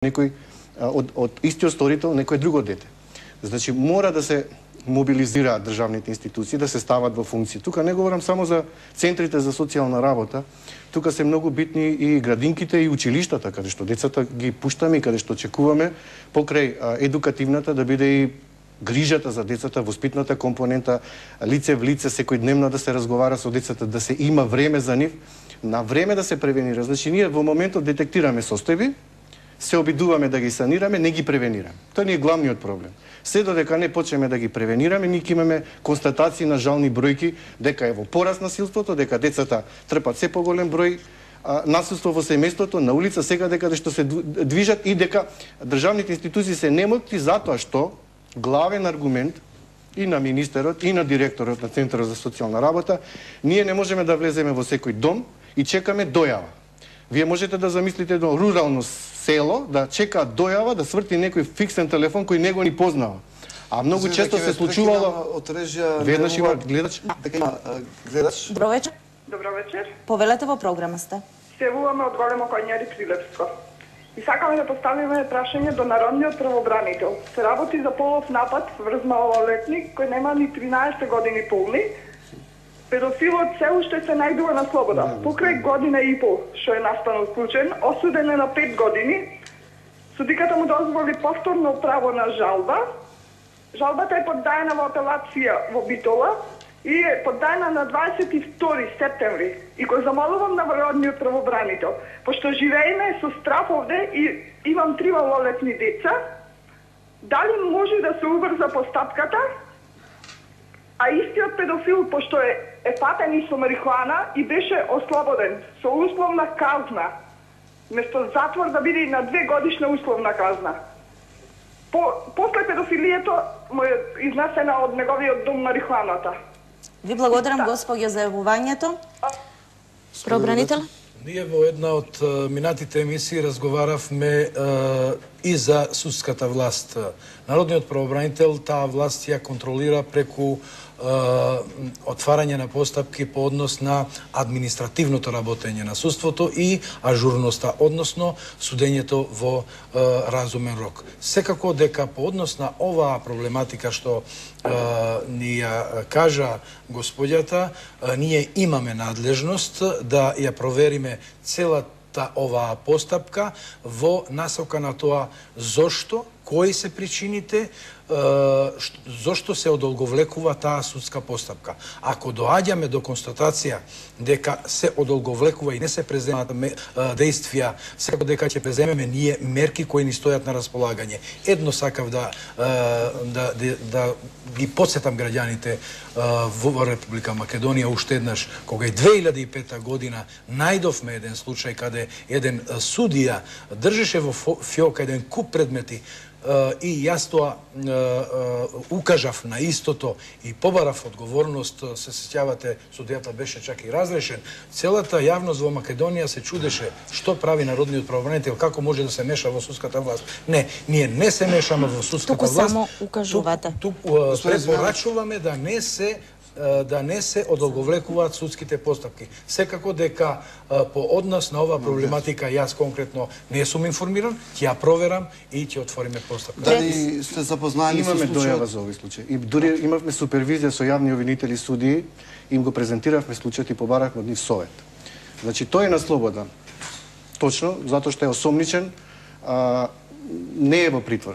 некој од истиот сторител некој друго дете. Значи мора да се мобилизираат државните институции, да се стават во функција. Тука не говорам само за центрите за социјална работа, тука се многу битни и градинките и училиштата, каде што децата ги пуштаме и каде што очекуваме покрај едукативната да биде и грижата за децата, воспитната компонента, лице в лице, секојдневно да се разговара со децата, да се има време за нив, на време да се превенира. Значи ние во моментот детектираме состојби, се обидуваме да ги санираме, не ги превенираме. Тоа ни е главниот проблем. Се додека не почнеме да ги превенираме, ние имаме констатации на жални бројки дека е во пораст насилството, дека децата трпат се поголем број насилство во семејството, на улица, сега дека што се движат и дека државните институции се немоти затоа што главен аргумент и на министерот и на директорот на Центарот за социјална работа, ние не можеме да влеземе во секој дом и чекаме дојава. Вие можете да замислите едно рурално село, да чека дојава, да сврти некој фиксен телефон кој него ни познава. А многу често се случувало... Веднаш има гледач? Гледач. Добро вечер. Добро вечер. Повелете во програма сте. Се јавуваме од Големо Коњари, Прилепско. И сакаме да поставиме прашање до народниот правобранител. Се работи за полов напад врз малолетник кој нема ни 13 години полни. Педофилот се уште се најдува на слобода. Покрај година и пол што е настанал случај, осуден е на 5 години. Судиката му дозволи повторно право на жалба. Жалбата е поддаена во апелација во Битола и е поддаена на 22 септември. И го замолувам на народниот правобранител, пошто живееме со страф овде и имам 3 малолетни деца, дали може да се убрза постапката, а истиот педофил, пошто е фатен и со марихуана и беше ослободен со условна казна, место затвор да биде на 2 годишна условна казна. После педофилието му е изнесена од неговиот дом марихуаната. Ви благодарам, господјо, за јавувањето. Правобранител? Ние во една од минатите емисии разговаравме и за судската власт. Народниот правобранител таа власт ја контролира преку отварање на постапки по однос на административното работење на судството и ажурноста, односно судењето во разумен рок. Секако дека по однос на оваа проблематика што ни ја кажа господјата, ние имаме надлежност да ја провериме целата оваа постапка во насока на тоа зошто, кои се причините, зошто се одолговлекува таа судска постапка. Ако доаѓаме до констатација дека се одолговлекува и не се преземаат действија, секако дека ќе преземеме ние мерки кои ни стојат на располагање. Едно сакав да ги подсетам граѓаните во Република Македонија уште еднаш, кога и 2005 година најдовме еден случај каде еден судија држеше во фиока еден куп предмети и јас тоа укажав на истото и побарав одговорност, се сеќавате, судијата беше чак и разрешен. Целата јавност во Македонија се чудеше што прави народниот правобранител, како може да се меша во судската власт. Не, ние не се мешаме во судската власт. Туку само укажувате. Препорачуваме да не се одолговлекуваат судските постапки. Секако дека по однос на оваа проблематика јас конкретно не сум информиран, ќе ја проверам и ќе отвориме постапка. Дали сте запознаени со случајот? Имаме дојава за овој случај. И дури имавме супервизија со јавни обвинители судии, им го презентиравме случајот и побарахме од нив совет. Значи тој е на слобода. Точно, затоа што е осомничен, не е во притвор.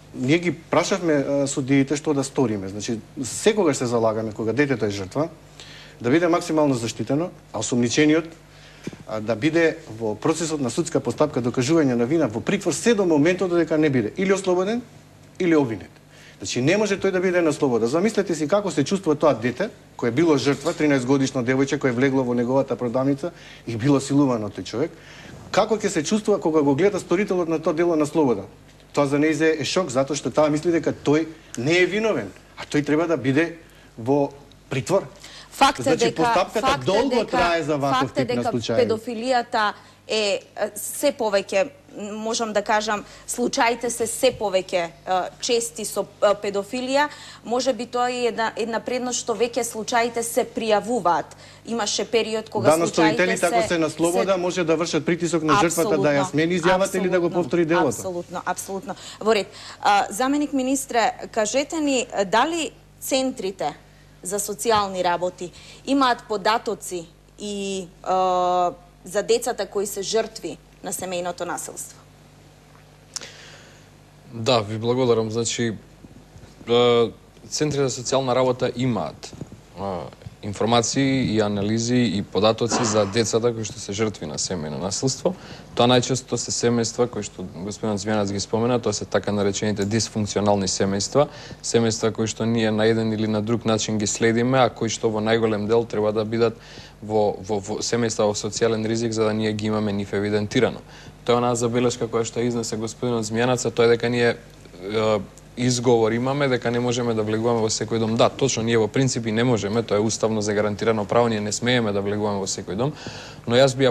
Ние ги прашавме судиите што да сториме. Значи, секогаш се залагаме, кога детето е жртва, да биде максимално заштитено, а осомничениот да биде во процесот на судска постапка докажување на вина во притвор се до моментот додека не биде или ослободен, или обвинет. Значи, не може тој да биде на слобода. Замислете си како се чувствува тоа дете, кој е било жртва, 13-годишно девојче, кој е влегло во неговата продавница и било силувано тој човек. Како ќе се чувствува кога го гледа сторителот на тоа дело на слобода? Тоа за нејзе е шок, затоа што таа мисли дека тој не е виновен, а тој треба да биде во притвор. Факт е дека трае за ваков тип на случаи. Педофилијата се повеќе, можам да кажам, случаите се повеќе чести со педофилија, може би тоа е една предност што веќе случаите се пријавуваат. Имаше период кога случаите се... ако се на слобода, може да вршат притисок на жртвата да ја смени изјавата или да го повтори делото. Апсолутно. Во ред. Заменик министре, кажете ни дали центрите за социјални работи имаат податоци и за децата кои се жртви на семејното насилство? Да, ви благодарам. Значи, центрите за социјална работа имаат информации и анализи и податоци за децата кои што се жртви на семејно насилство. Тоа најчесто се семејства кои што господинот Zmijanac ги спомена, тоа се така наречените дисфункционални семејства, семејства кои што ние на еден или на друг начин ги следиме, а кои што во најголем дел треба да бидат во семејства во социјален ризик за да ние ги имаме нив евидентирано. Тоа е онаа забелешка која што изнесе господинот Zmijanac, тоа е дека ние изговор имаме дека не можеме да влегуваме во секој дом. Да, точно, ние во принципи не можеме, тоа е уставно загарантирано право, ние не смееме да влегуваме во секој дом, но јас би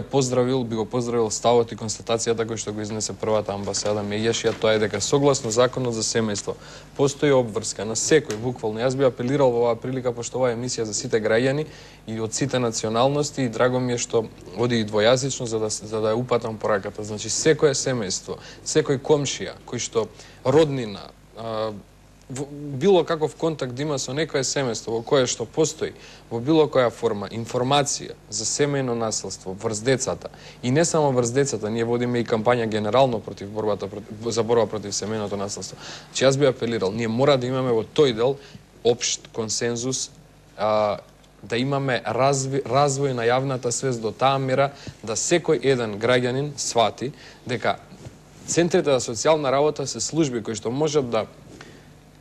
го поздравил ставот и констатацијата кој што го изнесе првата амбасада Меѓашија, тоа е дека согласно законот за семејство постои обврска на секој, буквално. Јас би апелирал во оваа прилика, пошто оваа емисија за сите граѓани и од сите националности, и драго ми е што оди и двојазично за да ја упатам пораката. Значи секое семејство, секој комшија кој што роднина, било каков контакт има со некое семејство во кое што постои во било која форма информација за семејно насилство врз децата, и не само врз децата, ние водиме и кампања генерално за борба против семејното насилство. Че јас би апелирал, ние мора да имаме во тој дел општ консензус, да имаме развој на јавната свест до таа мера да секој еден граѓанин свати дека центрите за социјална работа се служби кои што можат да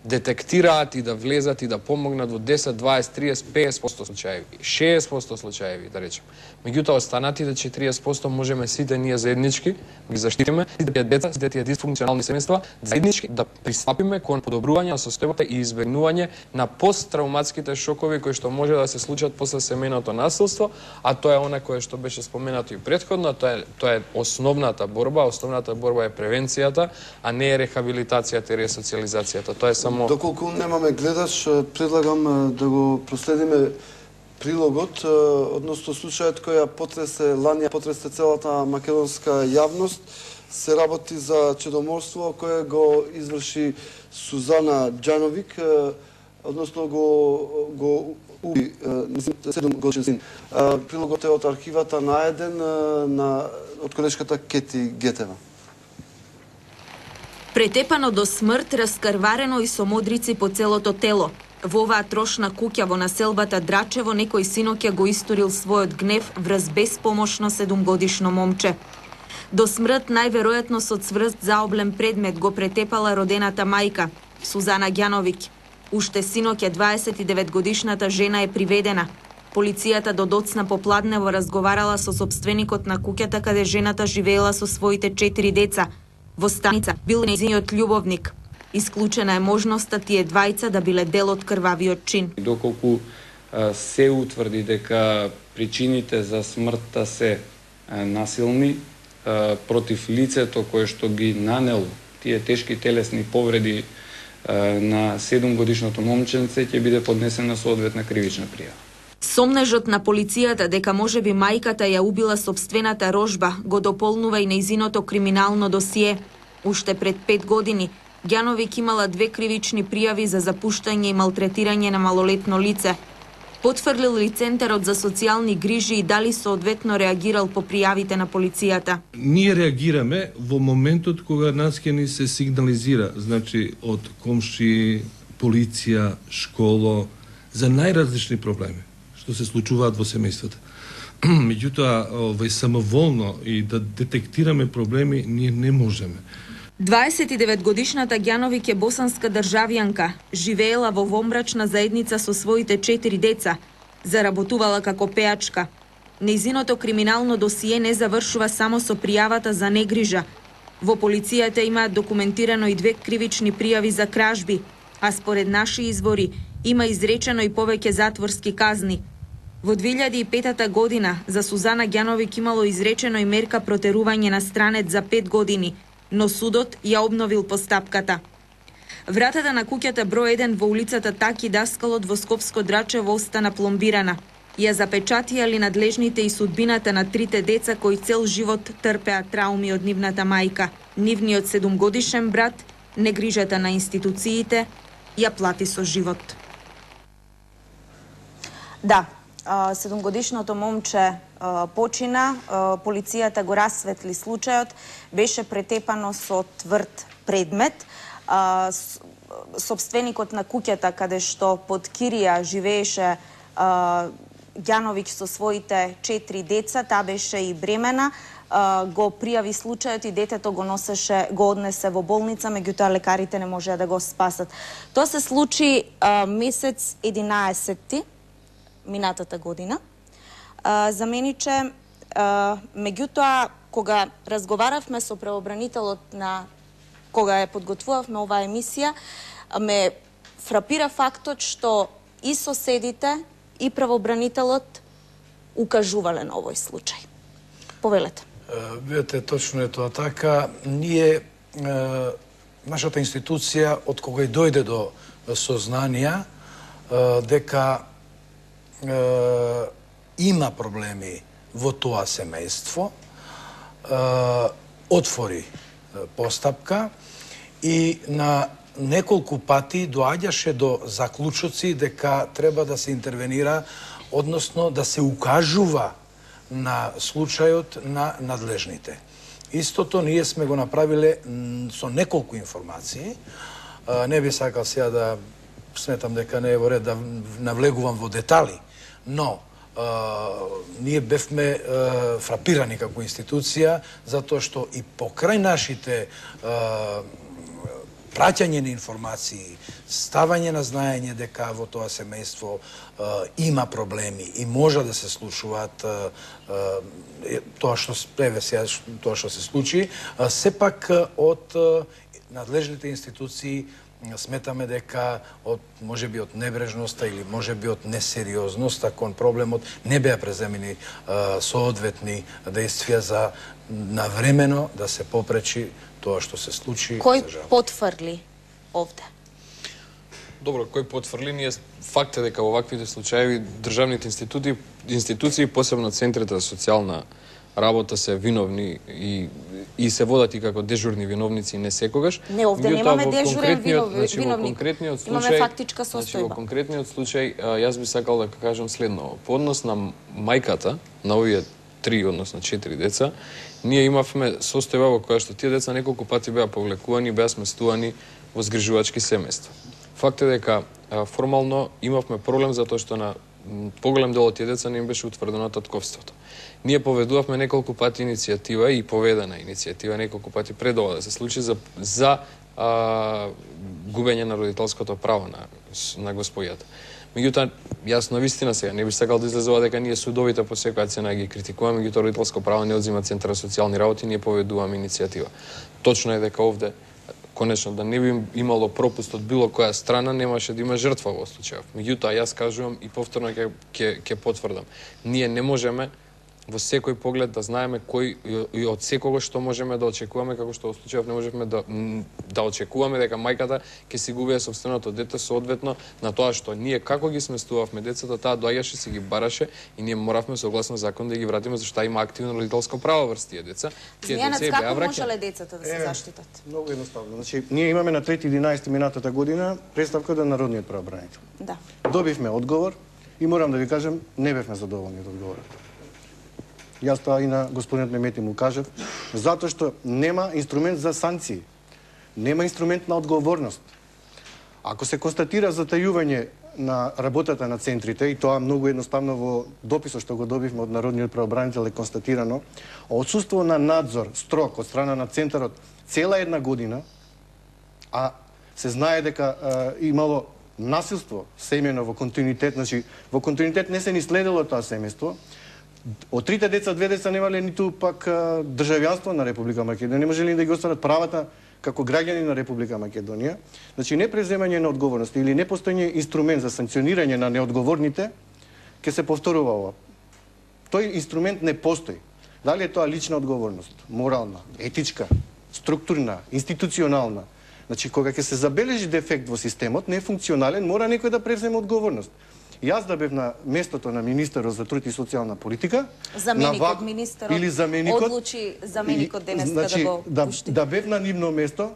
детектираат и да влезат и да помогнат во 10, 20, 30, 50% случаеви, 60% случаеви, да речем. Меѓутоа, останатите 40% можеме сите ние заеднички ги заштитиме, сите тие деца, сите тие дисфункционални семејства, заеднички да пристапиме кон подобрување на состојбата и избегнување на посттравматските шокови кои што може да се случат после семејното насилство, а тоа е она кое што беше споменато и претходно, тоа е основната борба е превенцијата, а не е рехабилитацијата и ресоциализацијата. Тоа е само... Доколку немаме гледач, предлагам да го проследиме прилогот, односно случајот кој лани потресе целата македонска јавност, се работи за чедоморство кое го изврши Сузана Џановик, односно го уби 7-годишен син. Прилогот е од архивата на Еден од колешката Кети Гетева. Претепано до смрт, раскрварено и со модрици по целото тело. Во оваа трошна куќа во населбата Драчево некој синоќа го историл својот гнев врз безпомошно 7-годишно момче. До смрт најверојатно со цврст заоблен предмет го претепала родената мајка, Сузана Ѓановиќ. Уште синоќа 29-годишната жена е приведена. Полицијата до доцна попладнево разговарала со сопственикот на куќата каде жената живеела со своите 4 деца. Во станица бил нејзиниот љубовник. Исклучена е можноста тие двајца да биле дел од крвавиот чин. Доколку се утврди дека причините за смртта се насилни против лицето кое што ги нанело тие тешки телесни повреди на 7-годишното момченце, ќе биде поднесена соодветна кривична пријава. Сомнежот на полицијата дека можеби мајката ја убила сопствената рожба го дополнува и нејзиното криминално досие. Уште пред 5 години Ѓановиќ имала 2 кривични пријави за запуштање и малтретирање на малолетно лице. Потврлил ли Центарот за социјални грижи и дали соодветно реагирал по пријавите на полицијата? Ние реагираме во моментот кога нас ќе ни се сигнализира, значи од комши, полиција, школа, за најразлични проблеми што се случуваат во семејствата. Меѓутоа, самоволно и да детектираме проблеми, ние не можеме. 29-годишната Ѓановиќ е босанска државјанка, живеела во вомбрачна заедница со своите 4 деца, заработувала како пеачка. Нејзиното криминално досие не завршува само со пријавата за негрижа. Во полицијата имаат документирано и 2 кривични пријави за кражби, а според наши извори има изречено и повеќе затворски казни. Во 2005 година за Сузана Ѓановиќ имало изречено и мерка протерување на странец за 5 години, но судот ја обновил постапката. Вратата на куќата број 1 во улицата Таки Даскалот во Скопско Драчево остана пломбирана. Ја запечатија надлежните и судбината на трите деца кои цел живот трпеа трауми од нивната мајка. Нивниот 7-годишен брат, негрижата на институциите, ја плати со живот. Да, 7-годишното момче почина, полицијата го расветли случајот, беше претепано со тврд предмет. Собственикот на куќата каде што под кирија живееше Ѓановиќ со своите 4 деца, таа беше и бремена, го пријави случајот и детето го однесе во болница, меѓутоа лекарите не можеа да го спасат. Тоа се случи месец 11 минатата година. Замениче, меѓутоа, кога разговаравме со правобранителот кога ја подготвувавме оваа емисија, ме фрапира фактот што и соседите и правобранителот укажувале на овој случај. Повелете. Видете, точно е тоа така. Ние, нашата институција, од кога и дојде до сознанија дека има проблеми во тоа семејство, отвори постапка и на неколку пати доаѓаше до заклучоци дека треба да се интервенира, односно да се укажува на случајот на надлежните. Истото ние сме го направиле со неколку информации. Не би сакал сега да сметам дека не е во ред да навлегувам во детали, но ние бевме фрапирани како институција, затоа што и покрај нашите праќање на информации, ставање на знаење дека во тоа семејство има проблеми и може да се случуваат тоа што се случи, сепак од надлежните институции сметаме дека можеби од небрежноста или можеби од несериозноста кон проблемот не беа преземени соодветни действија за навремено да се попречи тоа што се случи. Кој потврли овде? Добро, кој потврли? Ние факт е дека во ваквите случаи државните институции, посебно центрите за социјална работа се виновни и се водат и како дежурни виновници не секогаш. Не, овде немаме дежурен виновник. Имаме фактичка состојба. Во конкретниот случај, јас би сакал да кажам следно. По однос на мајката, на овие 3, односно 4 деца, ние имавме состојба во која што тие деца неколку пати беа повлекувани, беа сместувани во згрижувачки семејства. Факт е дека формално имавме проблем затоа што на поголем дел од тие деца не им беше утврдено татковството. Ние поведувавме неколку пати иницијатива и поведена иницијатива неколку пати пред ова да се случи за губење на родителското право на господјата. Меѓутоа, јас на вистина сега не би сакал да излезува дека ние судовите по секоја цена ги критикуваме, меѓутоа родителско право не одзема Центар за социјални работи, ние поведуваме иницијатива. Точно е дека овде конечно да не би имало пропуст од било која страна, немаше да има жртва во случајов. Меѓутоа, јас кажувам и повторно ќе потврдам. Ние не можеме во секој поглед да знаеме кој и од секого што можеме да очекуваме, како што во случајов не можевме да очекуваме дека мајката ќе си губее собственото дете соодветно на тоа што ние како ги сместувавме децата, таа доаѓаше, си ги бараше и ние моравме согласно закон да ги вратиме зашто има активно родителско право врз тие деца. Zmijanac, како можеле децата да се заштитат? Многу едноставно. Значи, ние имаме на 3.11 минатата година представка до Народниот правобранител. Да. Добивме одговор и морам да ви кажем, не бевме задоволни од одговорот. Јас тоа и на господинот Мемети му кажав, затоа што нема инструмент за санкции, нема инструмент на одговорност. Ако се констатира затајување на работата на центрите, и тоа многу едноставно во дописот што го добивме од Народниот правобранител е констатирано, отсуство на надзор строг од страна на центарот цела една година, а се знае дека имало насилство семејно во континуитет, значи во континуитет не се ни следело тоа семејство. Од трите деца, 2 деца немале ниту пак државјанство на Република Македонија, не можеле да ги остварат правата како граѓани на Република Македонија. Значи, непреземање на одговорност или непостојање инструмент за санкционирање на неодговорните ќе се повторува ова. Тој инструмент не постои. Дали е тоа лична одговорност, морална, етичка, структурна, институционална. Значи, кога ќе се забележи дефект во системот, не е функционален, мора некој да превземе одговорност. Јас да бев на местото на министерот за труд и социјална политика, заменикот министерот или заменикот, одлучи заменикот денеска значи, да го пушти. Да бев на нивно место,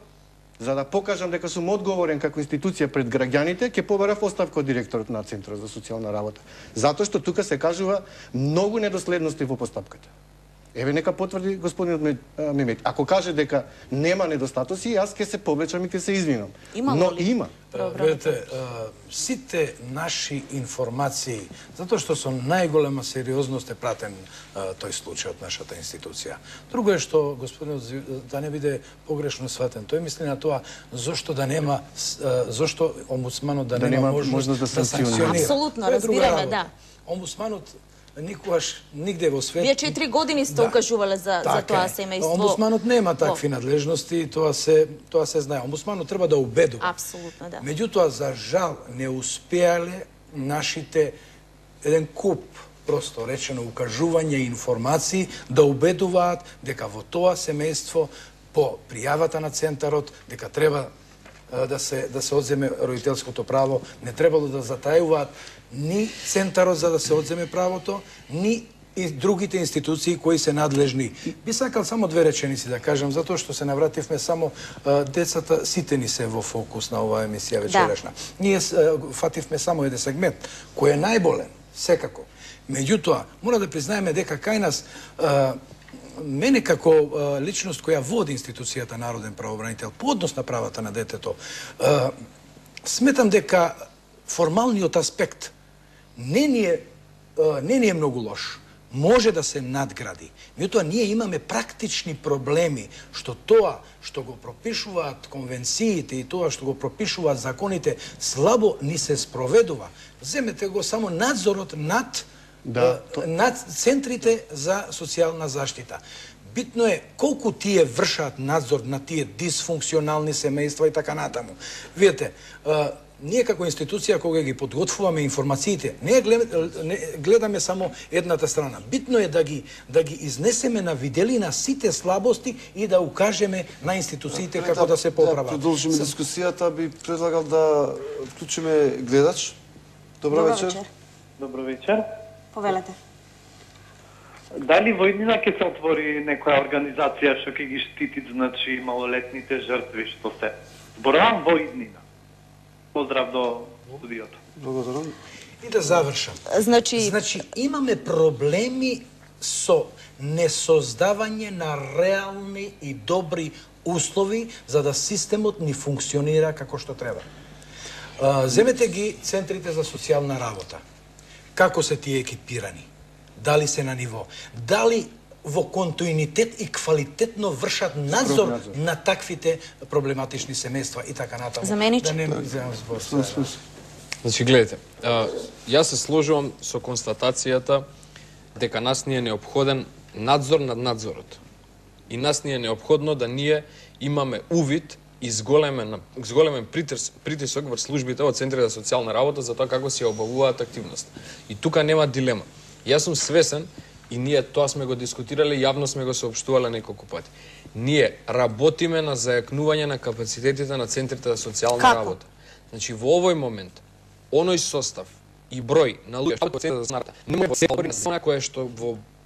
за да покажам дека сум одговорен како институција пред граѓаните, ќе побарав оставка од директорот на Центарот за социјална работа. Затоа што тука се кажува многу недоследности во постапката. Еве нека потврди господинот Мемет. Ако каже дека нема недостатоци, јас ќе се повлечам и ќе се извинам. Но има. Видете, сите наши информации, затоа што со најголема сериозност е пратен тој случај од нашата институција. Друго е што господинот, да не биде погрешно сватен, тој мисли на тоа зошто да нема, зошто омбудсманот да нема можност да санкционира. Апсолутно, разбираме, да. Омбудсманот никогаш нигде во свет. Вие 4 години сте укажувале за тоа семејство. Омбудсманот нема такви надлежности, тоа се знае. Омбудсманот треба да убедува. Апсолутно, да. Меѓутоа, за жал, не успеале нашите еден куп, просто речено, укажување и информации да убедуваат дека во тоа семејство по пријавата на центарот дека треба да се одземе родителското право, не требало да затајуваат ни центарот за да се одземе правото, ни и другите институции кои се надлежни. Би сакал само две реченици да кажам, затоа што се навративме само децата, сите ни се во фокус на оваа емисија вечерашна. Ние фативме само еден сегмент, кој е најболен, секако. Меѓутоа, мора да признаеме дека кај нас мене како личност која води институцијата Народен правобранител по однос на правата на детето, сметам дека формалниот аспект не ни е многу лош. Може да се надгради. Меѓутоа, ние имаме практични проблеми, што тоа што го пропишуваат конвенциите и тоа што го пропишуваат законите слабо ни се спроведува. Земете го само надзорот над центрите за социјална заштита. Битно е колку тие вршат надзор на тие дисфункционални семејства и така натаму. Видете, ние како институција кога ги подготвуваме информациите, не гледаме само едната страна. Битно е да ги изнесеме на виделина сите слабости и да укажеме на институциите како да се поправат. Да продолжиме дискусијата, би предлагал да вклучиме гледач. Добро вечер. Добро вечер. Повелете. Дали во иднина ќе се отвори некоја организација што ќе ги штити, значи, малолетните жртви што се? Зборувам во иднина. Поздрав до студиото. Благодарам. И да завршам. Значи, имаме проблеми со несоздавање на реални и добри услови за да системот ни функционира како што треба. Земете ги центрите за социјална работа. Како се тие екипирани? Дали се на ниво? Дали во континуитет и квалитетно вршат надзор на таквите проблематични семејства и така натаму? Замениче. Да не земам збор. Значи, гледайте, јас се сложувам со констатацијата дека нас ни е неопходен надзор над надзорот. И нас ни е неопходно да ние имаме увид и зголемен притисок врз службите од Центрите за социјална работа за тоа како се обавуваат активност. И тука нема дилема. Јас сум свесен и ние тоа сме го дискутирале, јавно сме го соопштувале неколку пати. Ние работиме на зајакнување на капацитетите на Центрите за социјална работа. Значи, во овој момент, оној состав и број на луѓе што Центарот за работа не може да кое што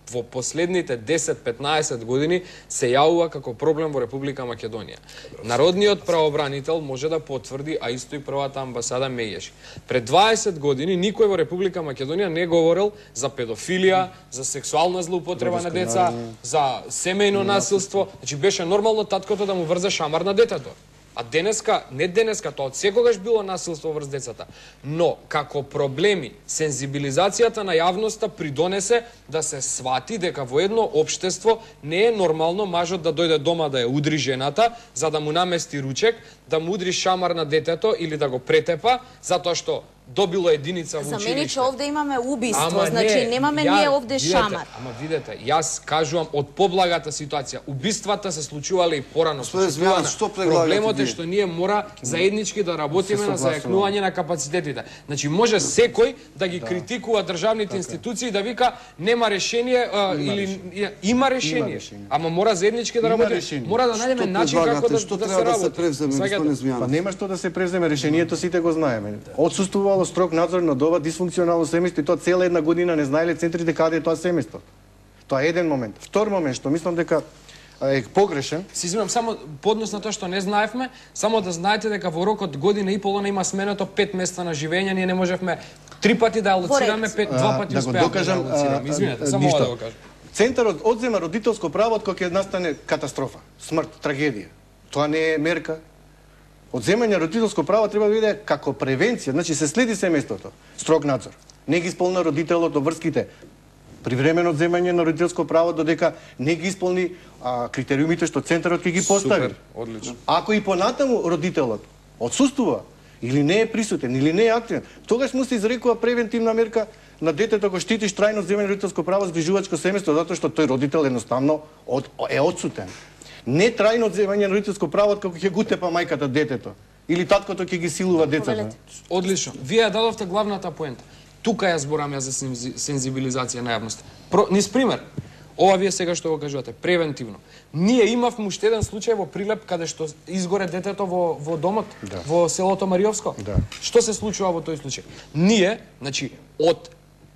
во последните 10-15 години се јавува како проблем во Република Македонија. Народниот правобранител може да потврди, а исто и првата амбасада Мејеши. Пред 20 години никој во Република Македонија не говорел за педофилија, за сексуална злоупотреба на деца, за семејно насилство. Значи беше нормално таткото да му врзе шамар на детето. А денеска, не денеска, тоа од секогаш било насилство врз децата. Но, како проблеми, сензибилизацијата на јавноста придонесе да се свати дека во едно општество не е нормално мажот да дојде дома да ја удри жената, за да му намести ручек, да му удри шамар на детето или да го претепа, затоа што добило единица во За училиште. мене че овде имаме убиство, Ама значи немаме ние овде шамар. Ама видете, јас кажувам од поблагата ситуација. Убиствата се случувале и порано. Проблемот е што ние мора заеднички да работиме на зајакнување на капацитетите. Значи може секој да ги критикува државните институции да вика нема решение или има решение. Ама мора заеднички да работиме. Мора да најдеме начин како да се работи. Па нема што да се превземе, решението сите го знаеме. Отсуствувало строг надзор над ова дисфункционално семејство и тоа цела една година не знаеле центрите каде е тоа семејство. Тоа е еден момент. Втор момент што мислам дека е погрешен. Се извинувам, само по однос на тоа што не знаевме, само да знаете дека во рок од година и половина има сменето 5 места на живење, ние не можевме 3 пати да алоцираме, 2 пати успеавме да алоцираме. Извинете, само ова да го кажам. Центарот одзема родителско право кога ќе настане катастрофа, смрт, трагедија. Тоа не е мерка. Одземање родителско право треба да биде како превенција, значи се следи семејството, строг надзор. Не ги исполна родителот обврските, привремено одземање на родителско право додека не ги исполни критериумите што центарот ќе ги постави. Супер, одлично. Ако и понатаму родителот отсуствува или не е присутен или не е активен, тогаш му се изрекува превентивна мерка на детето го штитиш трајно одземање родителско право згрижувачко семејство затоа што тој родител едноставно е отсутен. Не трајно одземање на родителско право како ќе го тепа мајката детето или таткото ќе ги силува децата. Одлично. Вие ја дадовте главната поента. Тука ја зборам за сензибилизација на јавноста. Низ пример, ова вие сега што го кажувате, превентивно. Ние имавме уште еден случај во Прилеп каде што изгоре детето во домот, во селото Мариовско. Што се случува во тој случај? Ние, значи,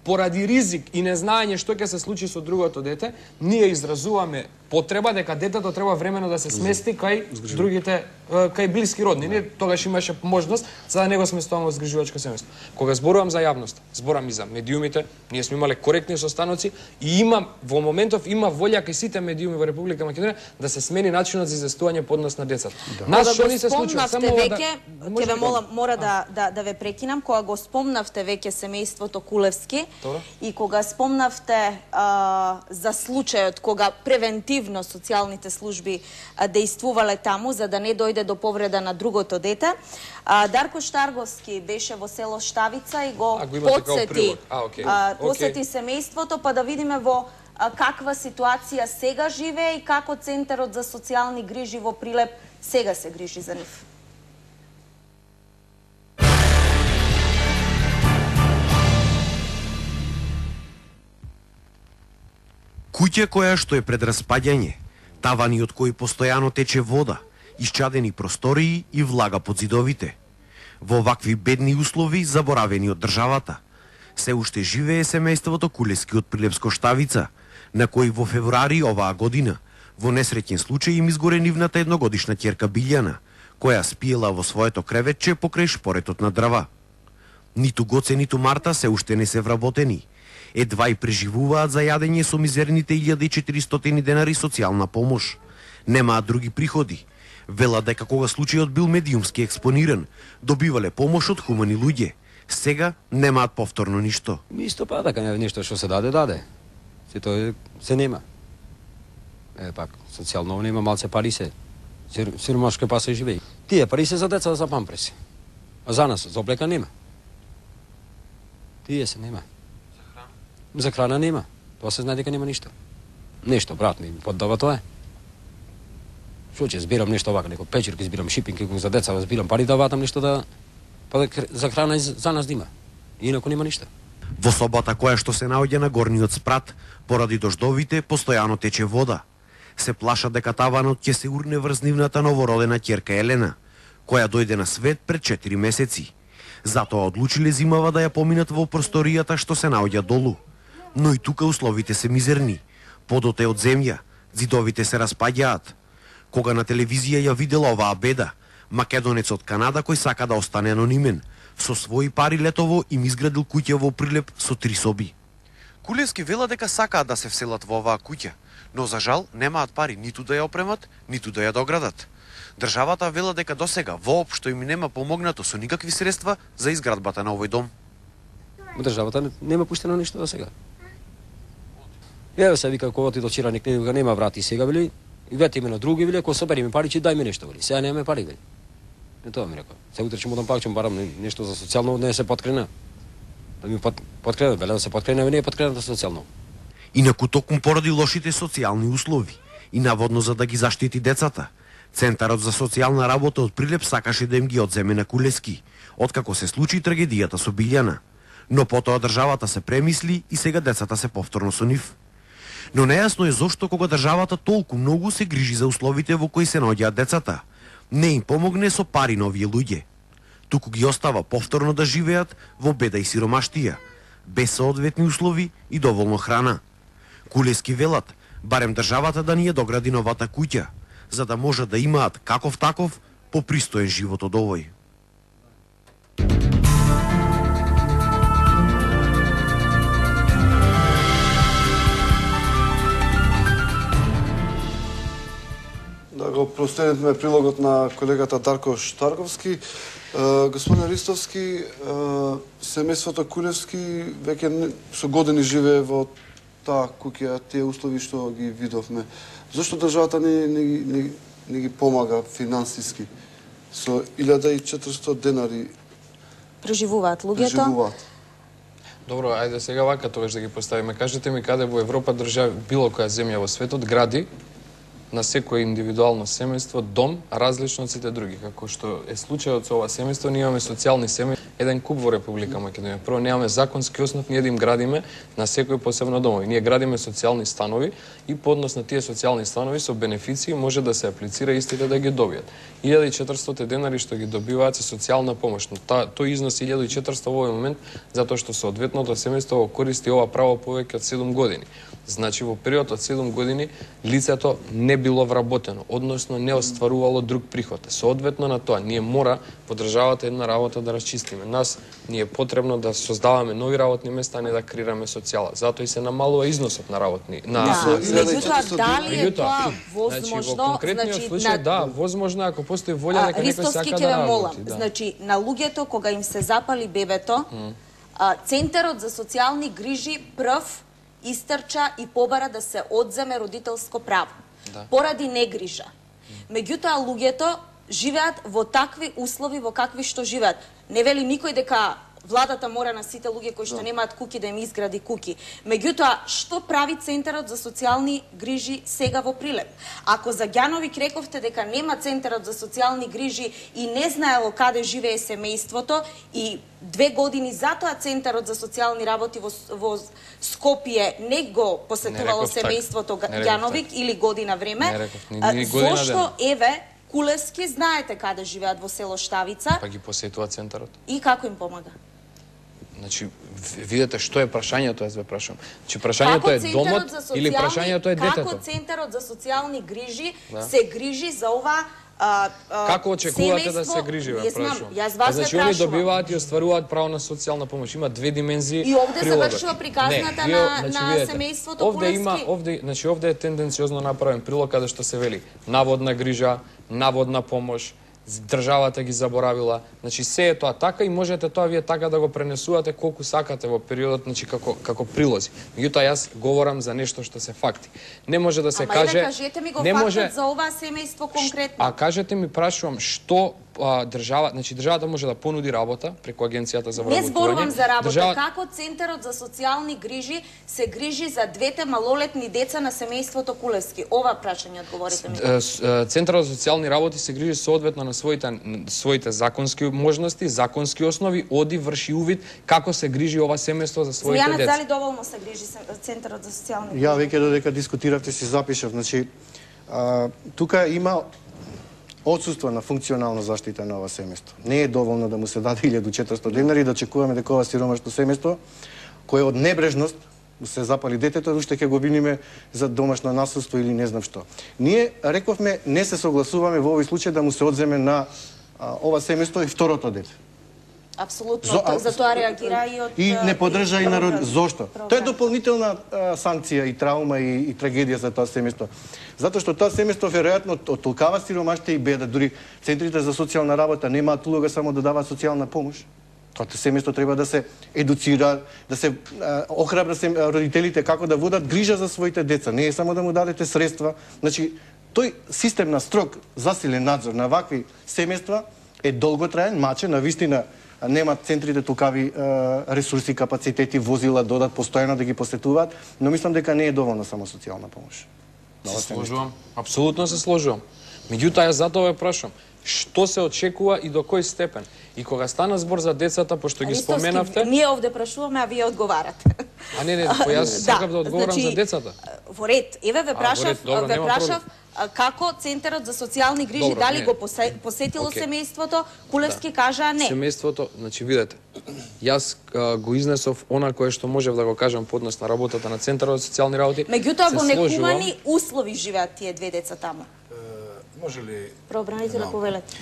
поради ризик и незнаење што ќе се случи со другото дете, ние изразуваме потреба дека детето треба времено да се смести кај другите, кај блиски родни. Ние тогаш имаше можност за да не го сместуваме во згрижувачко семејство. Кога зборувам за јавност, зборам и за медиумите, ние сме имале коректни состаноци и во моментов има волја кај сите медиуми во Република Македонија да се смени начинот за известување по однос на децата. Нас што ни се случува? Само ќе ве молам, мора да ве прекинам, кога го спомнавте веќе семејството Кулевски и кога спомнавте за случајот кога превентивно социјалните служби дејствувале таму за да не дојде до повреда на другото дете. Дарко Штарговски беше во село Штавица и го посети семејството, па да видиме во каква ситуација сега живее и како Центарот за социјални грижи во Прилеп сега се грижи за нив. Куќа која што е пред распаѓање, тавани од кои постојано тече вода, исчадени простории и влага под зидовите. Во вакви бедни услови, заборавени од државата, се уште живее семејството Кулевски од Прилепско Штавица, на кој во февруари оваа година, во несреќен случај им изгоре нивната едногодишна ќерка Билјана, која спиела во своето креветче покрај шпоретот на дрва. Ниту Гоце, ниту Марта се уште не се вработени. Едва и преживуваат за јадење со мизерните 1400 денари социјална помош. Немаат други приходи. Велат дека кога случајот бил медиумски експониран, добивале помош од хумани луѓе. Сега немаат повторно ништо. Исто па дека нешто што се даде. Се нема. Пак, социјално нема, малце пари се. Сиромашко па се живее. Тие пари се за деца за памперси. А за нас, за облека нема. Тие се нема. За храна нема. Тоа се знае дека нема ништо. Нешто, брат ми, поддава тоа е. Што ќе збирам нешто вака, некој печерки збирам, шипинг, за деца збирам пари да ватам нешто да... Па за храна и за нас дима. Инаку нема ништо. Во собата која што се наоѓа на горниот спрат, поради дождовите, постојано тече вода. Се плаша дека таванот ќе се урне врз нивната новородена ќерка Елена, која дојде на свет пред 4 месеци. Затоа одлучиле зимава да ја поминат во просторијата што се наоѓа долу. Но и тука условите се мизерни. Подот е од земја, зидовите се распаѓаат. Кога на телевизија ја видела оваа беда, македонец од Канада кој сака да остане анонимен, со своји пари летово им изградил куќа во Прилеп со 3 соби. Кулевски вела дека сакаат да се вселат во оваа куќа, но за жал немаат пари ниту да ја опремат, ниту да ја доградат. Државата вела дека досега воопшто им нема помогнато со никакви средства за изградбата на овој дом. Државата нема пуштено ништо до сега. Еве се вика кога ти дочираник нема врати сега вели, и вете име на други вели, ако собериме пари, че дај ми нешто вели. Сега немаме пари вели. Не тоа ми рекол. Се утре ќе му дам пак, ќе му барам нешто за социјално, не се подкрена. Да ми подкрена, беле да се подкрена, не е подкрената социјално. Инаку токму поради лошите социјални услови и наводно за да ги заштити децата, Центарот за социјална работа од Прилеп сакаше да им ги одземе на Кулески, откако се случи трагедијата со Билјана. Но потоа државата се премисли и сега децата се повторно со нив. Но нејасно е зошто кога државата толку многу се грижи за условите во кои се наоѓаат децата, не им помогне со пари на овие луѓе. Туку ги остава повторно да живеат во беда и сиромаштија, без соодветни услови и доволно храна. Кулески велат, барем државата да ни ја догради новата куќа, за да може да имаат каков таков попристоен живот од овој. Да го проследиме прилогот на колегата Дарко Штарковски. Господин Ристовски, семејството Кулевски веќе со години живее во таа куќа, тие услови што ги видовме. Зошто државата не ги помага финансиски? Со 1400 денари преживуваат луѓето. Добро, ајде сега вака тогаш да ги поставиме. Кажете ми каде во Европа држави, било која земја во светот, гради на секој индивидуално семејство дом различно од сите други, како што е случајот со ова семејство. Ние имаме социјални семејства, еден куп во Република Македонија. Прво немаме законски основ ние да им градиме на секој посебно домови. Ние градиме социјални станови и по однос на тие социјални станови со бенефиции може да се аплицира истите да ги добијат. 1400 денари што ги добиваат се социјална помош. Тој износ 1400 во овој момент затоа што соодветното семејство користи ова право повеќе од 7 години. Значи во период од 7 години лицето не било вработено, односно не остварувало друг приход. Соодветно на тоа, ние мора во државата една работа да расчистиме. Нас ни е потребно да создаваме нови работни места, а не да креираме социјала. Затоа и се намалува износот на работни. Меѓутоа, дали е тоа возможно? Значи, во конкретниот случај, да, возможно ако постои волја дека некој сака да работи. Значи, на луѓето кога им се запали бебето, Центарот за социјални грижи прв истрча и побара да се одземе родителско право. Поради негрижа. Меѓутоа, луѓето живеат во такви услови во какви што живеат. Не вели никој дека владата мора на сите луѓе кои што немаат куќи да им изгради куќи. Меѓутоа, што прави Центарот за социјални грижи сега во Прилеп? Ако за Ѓановик рековте дека нема Центарот за социјални грижи и не знаело каде живее семејството и 2 години затоа Центарот за социјални работи во Скопје не го посетувало семејството Ѓановик или година време, зошто еве Кулевски знаете каде живеат во село Штавица? Па ги посетува Центарот. И како им помага? Значи, видете што е прашањето, јас ве прашам. Че прашањето е домот или прашањето е детето? Како Центарот за социјални грижи се грижи за ова како очекувате да се грижи, ве прашувам? Јас вас ве Значи, они добиваат и остваруваат право на социјална помош. Има две димензии. И овде завршува приказната на семејството Кулевски. Значи, овде е тенденциозно направен прилог каде што се вели наводна грижа, наводна помош, државата ги заборавила. Значи се е тоа така и можете тоа вие така да го пренесувате колку сакате во периодот, значи како прилози. Меѓутоа јас говорам за нешто што се факти. Не може да се каже. Кажете ми го фактот за ова семејство конкретно. А кажете ми, прашувам, што државата може да понуди работа преку Агенцијата за вработување. Не зборувам за работа, како Центарот за социјални грижи се грижи за двете малолетни деца на семејството Кулевски? Ова прашање одговорите ми. Центарот за социјални работи се грижи соодветно на своите законски можности, законски основи, оди врши увид како се грижи ова семејство за своите деца. Смејанец, дали доволно се грижи Центарот за социјални грижи? Ја веќе додека дискутиравте си запишав, значи тука има отсуство на функционална заштита на ова семејство. Не е доволно да му се даде 1400 денари да чекуваме дека ова сиромашно семејство кое од небрежност се запали детето, уште ќе го виниме за домашно насилство или не знам што. Ние рековме не се согласуваме во овој случај да му се одземе на ова семејство и второто дете. Апсолутно, за тоа реагира и од... И не поддржа и народ. Зошто? Тоа е дополнителна санкција и траума и трагедија за тоа семејство. Затоа што тоа семејство веројатно од толкава сиромаштија и беда, дури центрите за социјална работа немаат улога само да даваат социјална помош. Тоа семејство треба да се едуцира, да се охрабра родителите како да водат грижа за своите деца, не е само да му дадете средства. Значи, тој систем на строг засилен надзор на вакви семејства е долготраен, мачен, навистина немат центрите толкави ресурси, капацитети, возила, додат постојано да ги посетуваат, но мислам дека не е доволно само социјална помош. Се сложувам, апсолутно се сложувам. Меѓутоа, ја затоа ве прашам, што се очекува и до кој степен? И кога стана збор за децата, пошто ги споменавте... Ние овде прашуваме, а вие одговарате. А не, јас сакам да одговорам за децата. Во ред, еве ве прашав како Центарот за социјални грижи, дали го посетило семејството, Кулевски кажа не. Семејството, значи видете, јас го изнесов она кое што можев да го кажам по однос на работата на Центарот за социјални работи. Меѓутоа во некумани услови живеат тие две деца таму. Може ли... Правобранителя, повелете.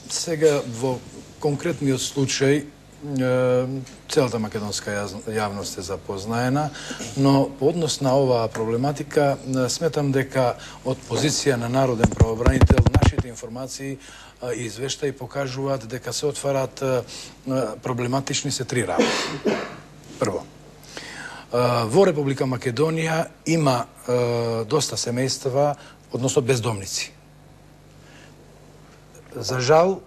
Сега, во конкретниот случај, целата македонска јавност е запознаена, но по однос на оваа проблематика сметам дека од позиција на народен правобранител нашите информации и извештаи покажуваат дека се отварат проблематични се три работи. Прво, во Република Македонија има доста семејства, односно бездомници. За жал,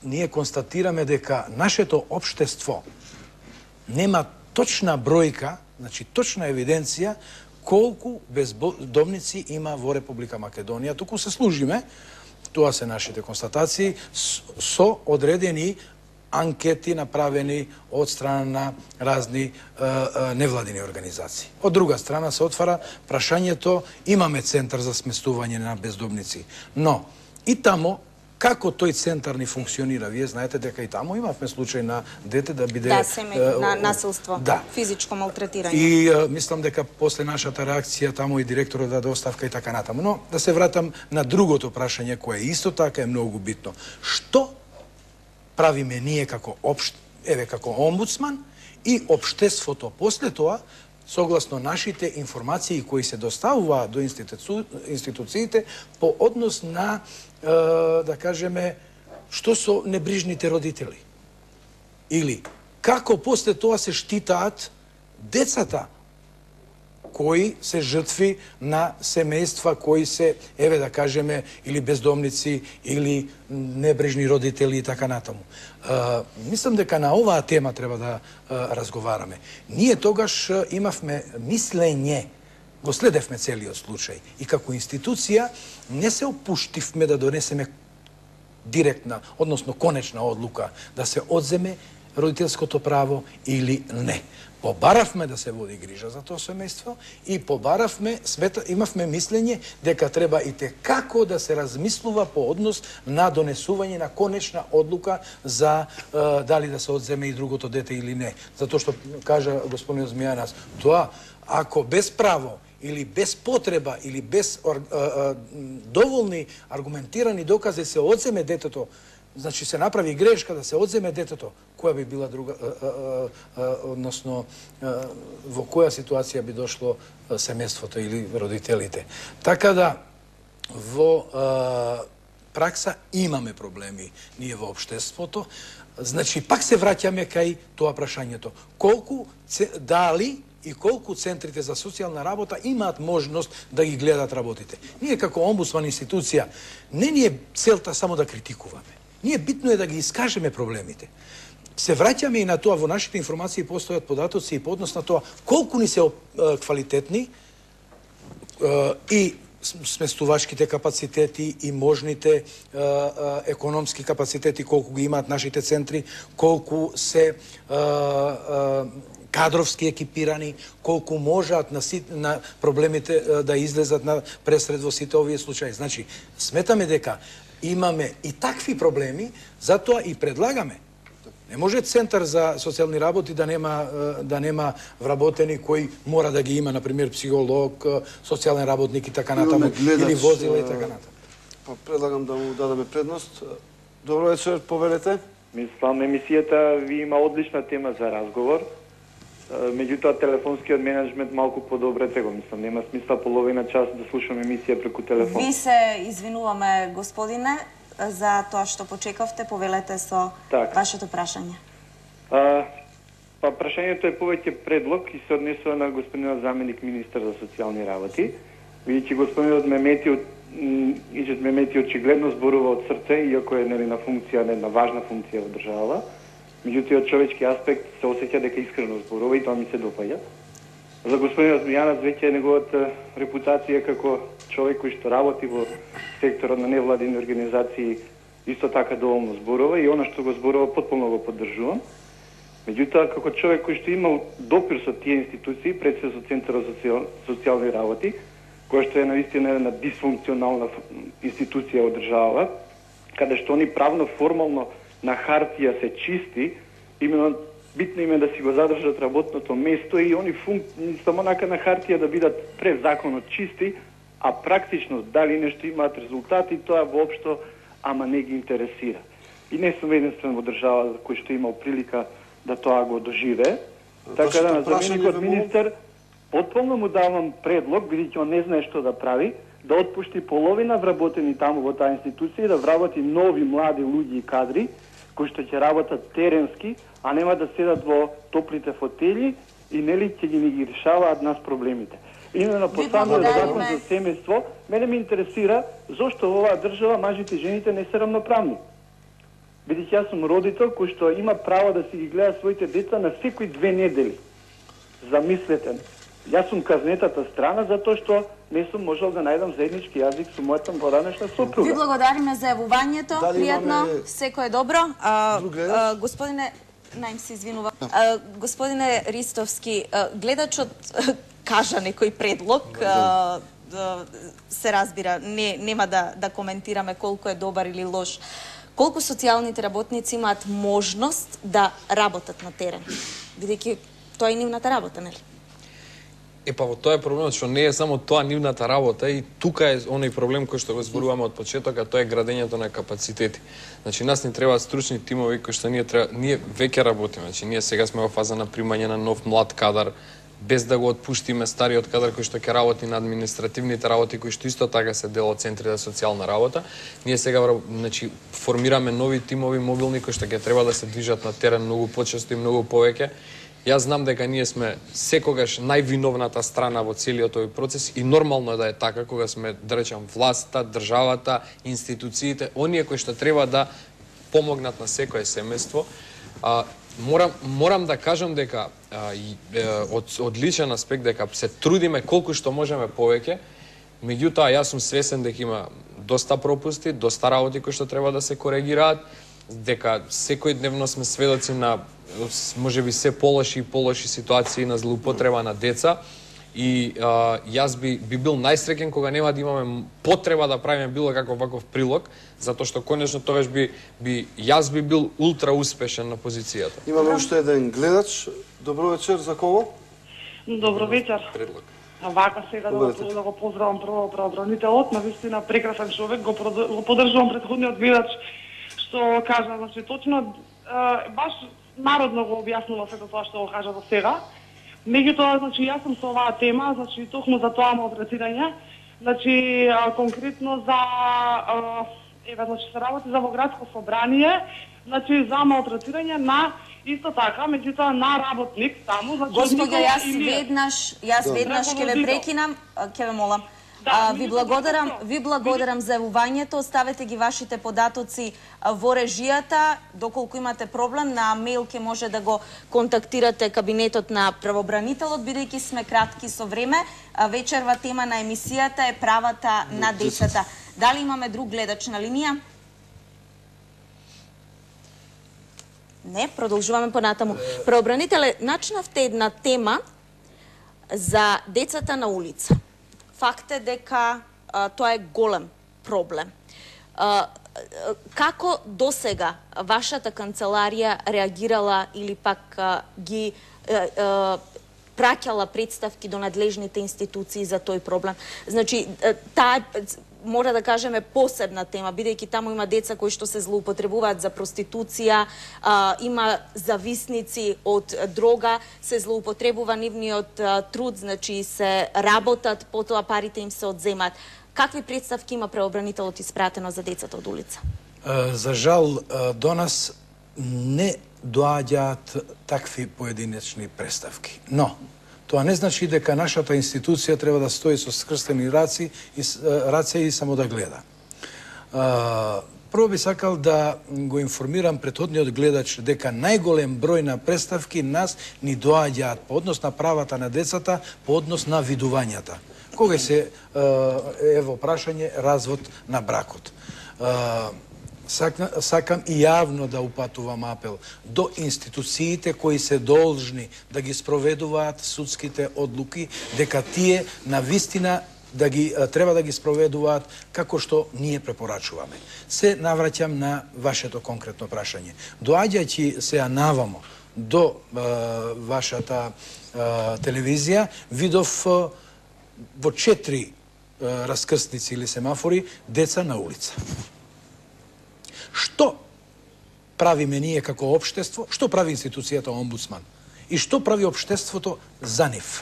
ние констатираме дека нашето општество нема точна бројка, значи точна евиденција колку бездомници има во Република Македонија. Туку се служиме, тоа се нашите констатации, со одредени анкети направени од страна на разни невладини организации. Од друга страна се отвара прашањето, имаме центар за сместување на бездомници, но и тамо како тој центар ни функционира? Вие знаете дека и тамо имавме случај на дете да биде... Да, семејно, на насилство, да. Физичко малтретирање. И мислам дека после нашата реакција тамо и директорот даде оставка и така натаму. Но да се вратам на другото прашање кое исто така е многу битно. Што правиме ние како како омбудсман и општеството после тоа, согласно нашите информации кои се доставуваат до институциите по однос на, да кажеме, што со небрижните родители? Или како после тоа се штитаат децата кои се жртви на семејства кои се, еве да кажеме, или бездомници, или небрежни родители и така натаму. Мислам дека на оваа тема треба да разговараме. Ние тогаш имавме мислење, го следевме целиот случај и како институција не се опуштивме да донесеме директна, односно конечна одлука да се одземе родителското право или не. Побаравме да се води грижа за тоа семејство и побаравме, имавме мислење дека треба и како да се размислува по однос на донесување на конечна одлука за дали да се одземе и другото дете или не. Затоа што кажа господин Змијанас, тоа ако без право или без потреба или без доволни аргументирани докази се одземе детето, значи се направи грешка да се одземе детето, која би била друга, односно во која ситуација би дошло семејството или родителите. Така да во пракса имаме проблеми ние во општеството, значи пак се враќаме кај тоа прашањето. Колку, дали и колку центрите за социјална работа имаат можност да ги гледат работите. Ние како омбудсман институција не ни е целта само да критикуваме. Ние битно е да ги искажеме проблемите. Се враќаме и на тоа, во нашите информации постојат податоци и по однос на тоа колку ни се квалитетни и сместувачките капацитети и можните економски капацитети, колку ги имаат нашите центри, колку се кадровски екипирани, колку можат на проблемите да излезат на пресред во сите овие случаи. Значи, сметаме дека имаме и такви проблеми, затоа и предлагаме. Не може Центар за социјални работи да нема вработени кои мора да ги има, например, психолог, социјален работник и така натаму, или возила и така натаму. Предлагам да му дадеме предност. Добро вечер, повелете. Мислам, емисијата ви има одлична тема за разговор. Меѓутоа, телефонскиот менеджмент малку подобрете го, мислам. Нема смисла половина час да слушам емисија преку телефон. Ви се извинуваме, господине, за тоа што почекавте. Повелете со вашето прашање. Прашањето е повеќе предлог и се однесува на господинот заменик министар за социјални работи. Видите, господинот ме мети од Ижет Мемети очигледно зборува од срце, иако е нели на функција, не на важна функција во држава. Меѓутоа, од човечки аспект се осеќа дека искрено зборува и тоа ми се допаѓа. За господинот Мијанов веќе неговата репутација како човек кој што работи во секторот на невладини организации исто така доволно зборува и она што го зборува потполно го поддржувам. Меѓутоа, како човек кој што имал допир со тие институции, пред се со Центарот за социјални работи, која што е наистина една дисфункционална институција од држава, каде што они правно формално на хартија се чисти, именно битно им е да си го задржат работното место и они само на хартија да бидат пред законот чисти, а практично дали нешто имаат резултати, тоа воопшто ама не ги интересира. И не сум единствен во држава кој што имал прилика да тоа го доживее. Така да на заменикот министер потполно му давам предлог, бидејќи он не знае што да прави, да отпушти половина вработени таму во таа институција и да вработи нови млади луѓе и кадри кои што ќе работат теренски, а нема да седат во топлите фотели и нели ќе ги решаваат нас проблемите. Именно по самиот закон за семејство, мене ме интересира зошто во оваа држава мажите и жените не се рамноправни. Бидејќи јас сум родител кој што има право да си ги гледа своите деца на секои 2 недели. Замислете, јас сум казнетата страна затоа што не сум можел да најдам заеднички јазик со мојата поранешна сопруга. Ви благодариме за јавувањето, пријатно, секој е добро. Господине, најм се извинува. Господине Ристовски, гледачот кажа некој предлог, се разбира, нема да коментираме колку е добар или лош. Колку социјалните работници имаат можност да работат на терен? Бидејќи тоа е нивната работа, нели? Во тоа е проблемот, што не е само тоа нивната работа и тука е оној проблем кој што го зборуваме од почеток, а тоа е градењето на капацитети. Значи, нас ни требаат стручни тимови кои што ние веќе работиме. Значи, ние сега сме во фаза на примање на нов млад кадар, без да го отпуштиме стариот кадар кој што ќе работи на административните работи, кои што исто така се дел од центри за социјална работа. Ние сега формираме нови тимови мобилни кои што ќе треба да се движат на терен многу почесто и многу повеќе. Јас знам дека ние сме секогаш највиновната страна во целиот овој процес и нормално е да е така кога сме, да речем, власта, државата, институциите, оние кои што треба да помогнат на секое семејство. Морам да кажам дека од личен аспект дека се трудиме колку што можеме повеќе, меѓутоа јас сум свесен дека има доста пропусти, доста работи кои што треба да се коригираат, дека секојдневно сме сведоци на можеби се полоши и полоши ситуации на злоупотреба на деца и јас би бил најсреќен кога нема да имаме потреба да правиме било каков ваков прилог, затоа што конечно тогаш јас би бил ултра успешен на позицијата. Имаме уште еден гледач. Добро вечер, за кого? Добро вечер. Предлог. Вака сега да го поздравам прво правобранителот, навистина прекрасен човек, го поддржувам претходниот гледач што кажа, значи точно баш народно го објаснува сето тоа што го кажа до сега. Меѓутоа, значи јас сум со оваа тема, значи токму за тоа малтретирање, значи конкретно за значи се работи за во градско собрание, значи за малтретирање на исто така, меѓутоа на работник таму, значи Господја, јас веднаш ќе ве прекинам, ќе ве молам. Ви благодарам за јавувањето, оставете ги вашите податоци во режијата, доколку имате проблем, на мејл ќе може да го контактирате кабинетот на правобранителот, бидејќи сме кратки со време. Вечерва тема на емисијата е правата на децата. Дали имаме друг гледач на линија? Не, продолжуваме понатаму. Правобранителе, начнавте една тема за децата на улица. Факт е дека тоа е голем проблем. Како досега вашата канцеларија реагирала или пак ги праќала представки до надлежните институции за тој проблем? Значи, таа мора да кажеме посебна тема, бидејќи таму има деца кои што се злоупотребуваат за проституција, има зависници од дрога, се злоупотребува нивниот труд, значи се работат, потоа парите им се одземат. Какви представки има правобранителот испратено за децата од улица? За жал, до нас не доаѓаат такви поединечни представки. Но, Тоа не значи дека нашата институција треба да стои со скрстени раце и само да гледа. Прво би сакал да го информирам претходниот гледач дека најголем број на представки нас ни доаѓаат по однос на правата на децата, по однос на видувањата. Кога се ево прашање развод на бракот. Сакам и јавно да упатувам апел до институциите кои се должни да ги спроведуваат судските одлуки, дека тие навистина треба да ги спроведуваат како што ние препорачуваме. Се навраќам на вашето конкретно прашање. Доаѓајќи се навамо до вашата телевизија, видов во 4 раскрстници или семафори деца на улица. Што правиме ние како општество, што прави институцијата омбудсман и што прави општеството за нив?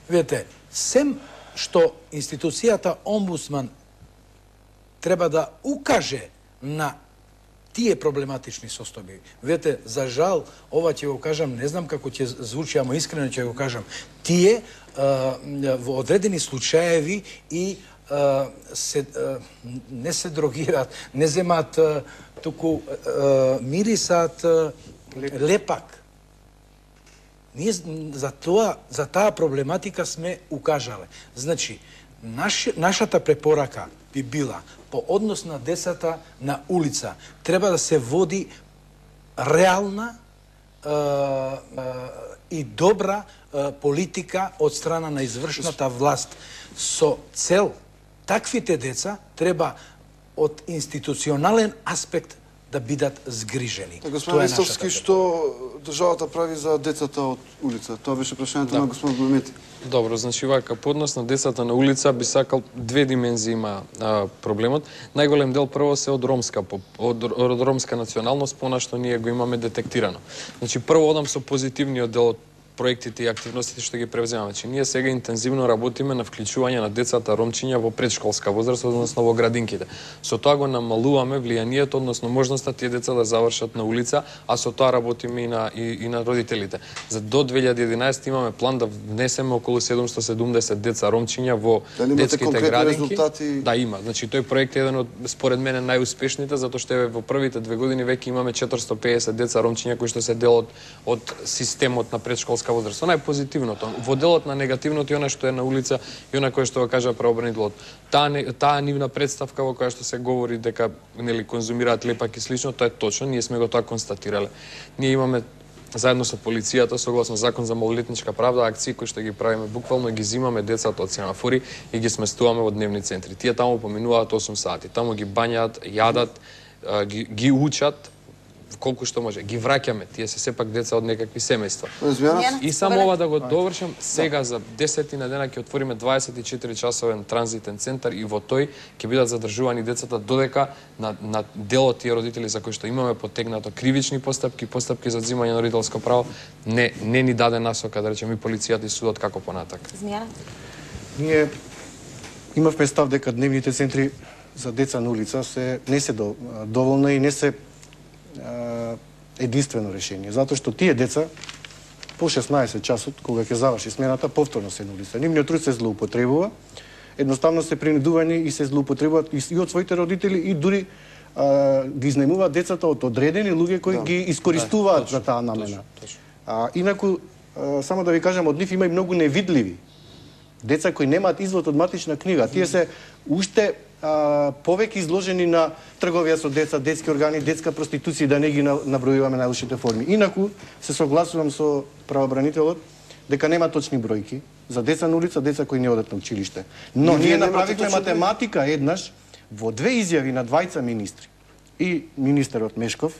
Видете, сем што институцијата омбудсман треба да укаже на тие проблематични состојби. Видете, за жал, ова ќе го кажам, не знам како ќе звучи, ама искрено ќе го кажам, тие во одредени случаеви и не се дрогираат, не земаат, туку мирисаат лепак. Ние за таа проблематика сме укажале. Значи, нашата препорака би била по однос на децата на улица. Треба да се води реална и добра политика од страна на извршната власт со цел таквите деца треба од институционален аспект да бидат згрижени. Господин Ристовски, што државата прави за децата од улица? Тоа беше прашањето на господин Блумети. Добро, значи вака, по однос на децата на улица би сакал две димензии има проблемот. Најголем дел прво се од ромска националност, понашто ние го имаме детектирано. Значи прво одам со позитивниот дел од проектите и активностите што ги превземаме. Значи, ние сега интензивно работиме на вклучување на децата ромчиња во предшколска возраст, односно во градинките. Со тоа го намалуваме влијанието, односно можноста тие деца да завршат на улица, а со тоа работиме и на родителите. За до 2011 имаме план да внесеме околу 770 деца ромчиња во детските градинки. Да, има. Значи, тој проект е еден од, според мене, најуспешните, затоа што во првите 2 години веќе имаме 450 деца ромчиња кои што се дел од системот на предшколска возраст. Она е позитивното. Во делот на негативното и она што е на улица и она кое што го кажа правобранителот. Таа нивна представка во која што се говори дека нели конзумираат лепак и слично, тоа е точно, ние сме го тоа констатирале. Ние имаме заедно со полицијата, согласно закон за малолетничка правда, акции кои што ги правиме буквално ги зимаме децата од семафори и ги сместуваме во дневни центри. Тие таму поминуваат 8 сати. Таму ги бањаат, јадат, ги учат колку што може. Ги враќаме, тие се сепак деца од некакви семејства. И само ова да го довршам, сега за 10 на дена ќе отвориме 24 часовен транзитен центар и во тој ќе бидат задржувани децата додека на дел од тие родители за кои што имаме потегнато кривични постапки за одзимање на родителско право, не ни даде насока, да речеме, и полицијата и судот како понатака. Ние имавме став дека дневните центри за деца на улица не се доволно и не се единствено решение, затоа што тие деца по 16 часот, кога ќе заврши смената, повторно се на улица. Нивниот труд се злоупотребува, едноставно се принудувани и се злоупотребуваат и од своите родители и дури ги изнајмуваат децата од одредени луѓе кои ги искористуваат за таа намена. Инаку, само да ви кажам, од нив има и многу невидливи деца кои немаат извод од матична книга. Тие се уште повеќе изложени на трговија со деца, детски органи, детска проституција, да не ги набројуваме најлошите форми. Инаку, се согласувам со правобранителот дека нема точни бројки за деца на улица, деца кои не одат на училиште. Но ние направивме математика еднаш во 2 изјави на двајца министри. И министерот Мешков,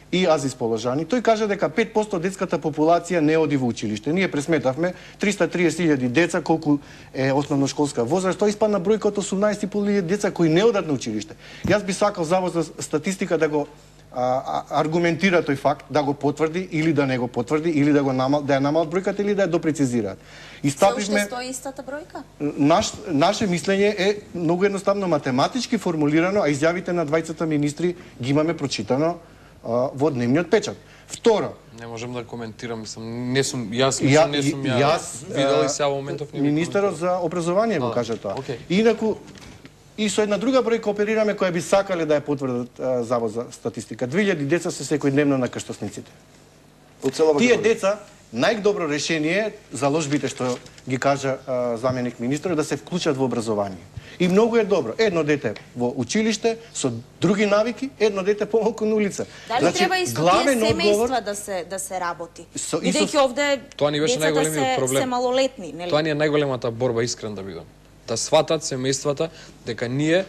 и Азис Положани, тој кажа дека 5% од детската популација не оди во училиште. Ние пресметавме 330.000 деца, колку е основношколска возраст, тоа испадна бројка од 18.500 деца кои не одат на училиште. Јас би сакал Завод за статистика да го аргументира тој факт, да го потврди или да не го потврди, или да ја намалат бројката или да ја допрецизираат. И стапивме... Се уште стои истата бројка? Наше мислење е многу едноставно математички формулирано, а изјавите на двајцата министри ги имаме прочитано во дневниот печат. Второ, не можам да коментирам, не сум јас видел и сега во моментов не. Министерот за образование го кажа тоа. Инаку и со една друга бројка оперираме која би сакале да ја потврдат Завод за статистика. 2000 деца се секојдневно на крстосниците. Тие деца најдобро решение заложбите што ги кажа заменик министер да се вклучат во образование. И многу е добро. Едно дете во училиште со други навики, едно дете помалку на улица. Дали треба и со тие семејства да се работи? Бидејќи овде децата се малолетни, нели? Тоа ни е најголемата борба, искрен да бидам. Да сватат семејствата дека ние,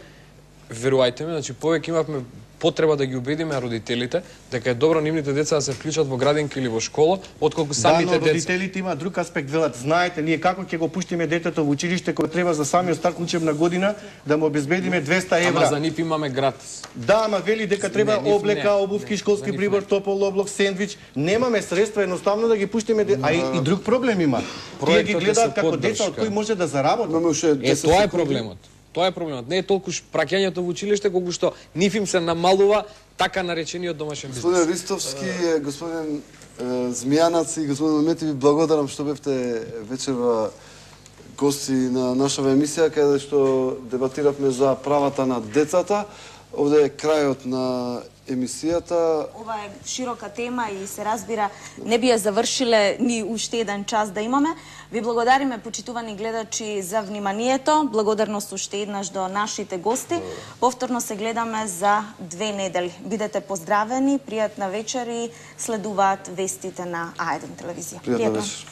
верувајте ми, значи повеќе имавме потреба да ги убедиме родителите дека е добро нивните деца да се вклучат во градинка или во школа, отколку самите деца. Да, но родителите има друг аспект, велат, знаете, ние како ќе го пуштиме детето во училиште кога треба за самиот старт на учебна година да му обезбедиме 200 евра. Ама за нив имаме гратис. Да, ама вели дека треба облека, обувки, школски прибор, топол облак, сендвич. Немаме средства едноставно да ги пуштиме, а и друг проблем има. Тие ги гледаат како деца од кои може да заработат. Тоа е проблемот. Тоа е проблемот. Не е толку праќањето во училиште, колку што нив им се намалува така наречениот домашен бизнес. Господин Ристовски, господин Змијанац и господин Мети, ви благодарам што бевте вечерва гости на нашава емисија, каде што дебатиравме за правата на децата. Овде е крајот на емисијата. Ова е широка тема и се разбира, не би ја завршиле ни уште еден час да имаме. Ви благодариме, почитувани гледачи, за вниманието. Благодарност уште еднаш до нашите гости. Повторно се гледаме за 2 недели. Бидете поздравени, пријатна вечер и следуваат вестите на А1 телевизија. Пријатна вечер.